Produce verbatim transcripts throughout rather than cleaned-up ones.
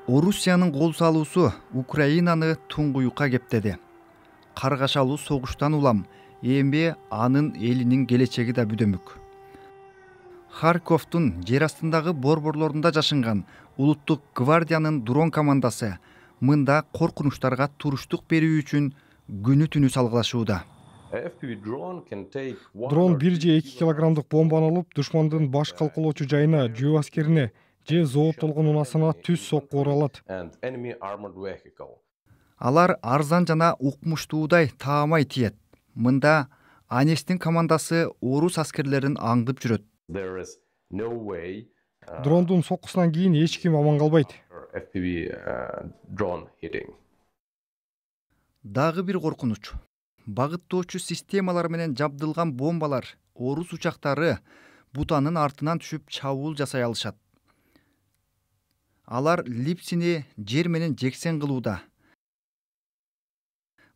Орусиянын кол салуусу Украинаны туңгуюкка кептеди. Каргашалуу согуштан улам эми анын элинин келечеги да бүдөмүк. Харьковдун жер астындагы борборлорунда жашынган улуттук гвардиянын дрон командасы мында коркунучтарга туруштук берүү үчүн күнү түнү салгылашууда. Дрон бир же эки килограммдык бомбаны алып, душмандын баш калкалоочу жайына, жөө аскерине же зооттолгон унаасына түз сокку уралат. Алар арзан жана укмуштуудай таамай тиет. Мында Анестин командасы орус аскерлерин аңдып жүрөт. Дрондун соккусунан кийин эч ким аман калбайт. Дагы бир коркунуч. Багыттоочу системалар менен жабдылган бомбалар орус учактары бутанын артынан түшүп чабуул жасай алышат. Алар Липсини жер менен жексен кылууда.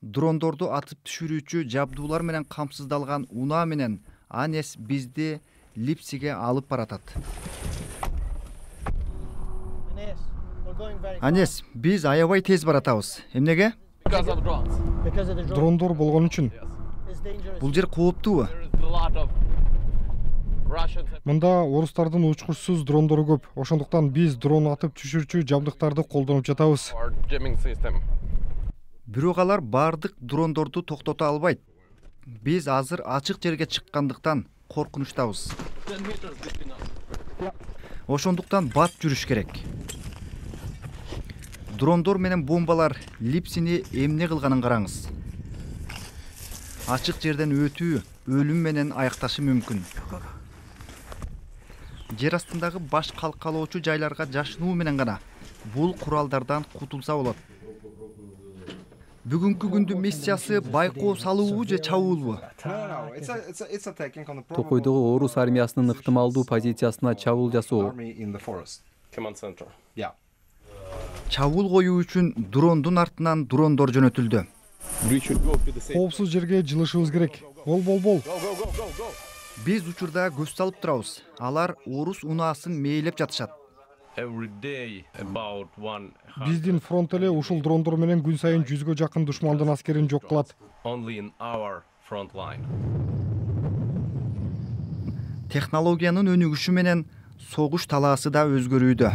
Дрондорду атып түшүрүүчү жабдуулар менен камсыздалган унаа менен Анес бизди Липсиге алып баратат. Анес, биз аябай тез баратабыз. Эмнеге? Дрондор болгон үчүн. Бул жер кооптуубу? Мында орустардын учкучсуз дрондору көп. Ошондуктан биз дрон атып түшүрчү жабдыктарды колдонуп жатабыз. Бирок алар бардык дрондорду токтото албайт. Биз азыр ачык жерге чыккандыктан коркунучтабыз. Ошондуктан бат жүрүш керек. Дрондор менен бомбалар Липсини эмне кылганын караңыз. Ачык жерден өтүү өлүм менен аякташы мүмкүн. Жер астындагы баш калкалоочу жайларга жашынуу менен гана бул куралдардан кутулса болот. Бүгүнкү күндүн миссиясы байкоо салуубу же чабуулбу? Токойдогу орус армиясынын ыктымалдуу позициясына чабуул жасоо. Чабуул коюу үчүн дрондун артынан дрондор жөнөтүлдү. Коопсуз жерге жылышыбыз керек. Бол бол бол. Биз учурда көз салып турабыз. Алар орус унаасын мээлеп жатышат. Биздин фронт эле ушул дрондор менен күн сайын жүзгө жакын душмандын аскерин жок кылат. Технологиянын өнүгүшү менен согуш талаасы да өзгөрүүдө.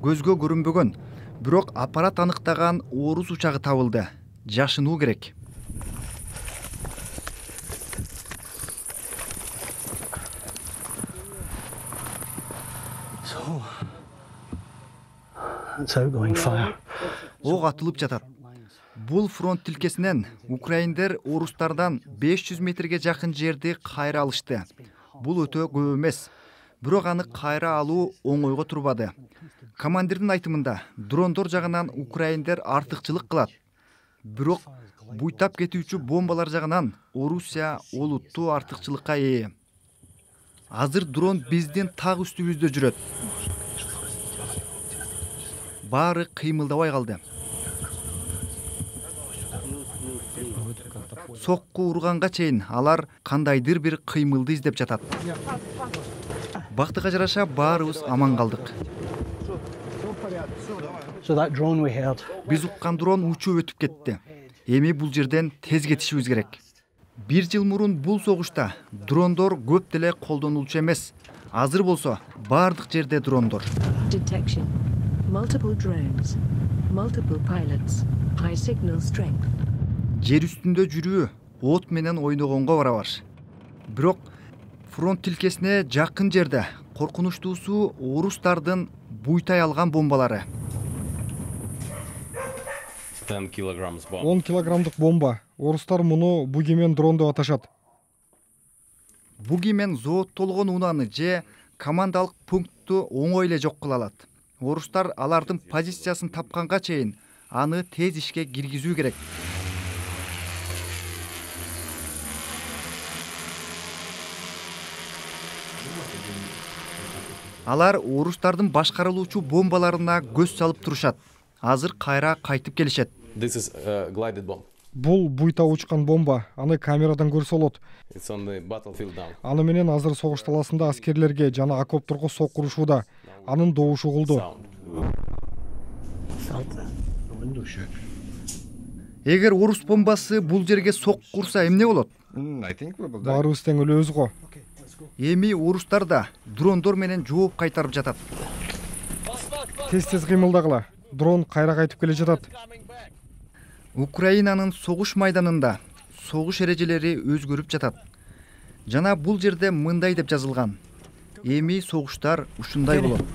Көзгө көрүнбөгөн, бирок аппарат аныктаган орус учагы табылды. Жашынуу керек. Ок атылып жатат. Бул фронт тилкесинен украиндер орустардан беш жүз метрге жакын жерди кайра алышты. Бул өтө көп эмес. Бирок аны кайра алуу оңойго турбады. Командирдин айтымында, дрондор жагынан украиндер артыкчылык кылат. Бирок буйтап кетүүчү бомбалар жагынан Орусия олуттуу артыкчылыкка ээ. Азыр дрон биздин так үстүбүздө жүрөт. Баары кыймылдабай калды. Сокку урганга чейин алар кандайдыр бир кыймылды издеп жатат. Бактыга жараша баарыбыз аман калдык. Биз уккан дрон учуп өтүп кетти. Эми бул жерден тез кетишибиз керек. Бир жыл мурун бул согушта дрондор көп деле колдонулчу эмес. Азыр болсо бардык жерде дрондор. Жер үстүндө жүрүү от менен ойногонго барабар. Бирок фронт тилкесине жакын жерде коркунучтуусу орустардын буйтай алган бомбалары. он килограммдык бомба. Орустар муну бугимен дрон деп аташат. Бугимен зооттолгон унааны же командалык пунктту оңой эле жок кыла алат. Орустар алардын позициясын тапканга чейин аны тез ишке киргизүү керек. Алар орустардын башкарылуучу бомбаларына көз салып турушат. Азыр кайра кайтып келишет. Бул буйта учкан бомба, аны камерадан көрсө болот. Аны менен азыр согуш таласында аскерлерге жана окопторго сокку урушууда. Анын добушу угулду. Эгер орус бомбасы бул жерге сокку урса эмне болот? Баарыбыз тең өлөбүз го. Эми орустар да дрондор менен жооп кайтарып жатат. Тез-тез кыймылдагыла. Дрон кайра кайтып келе жатат. Украинанын согуш майданында согуш эрежелери өзгөрүп жатат. Жана бул жерде мындай деп жазылган: эми согуштар ушундай болот.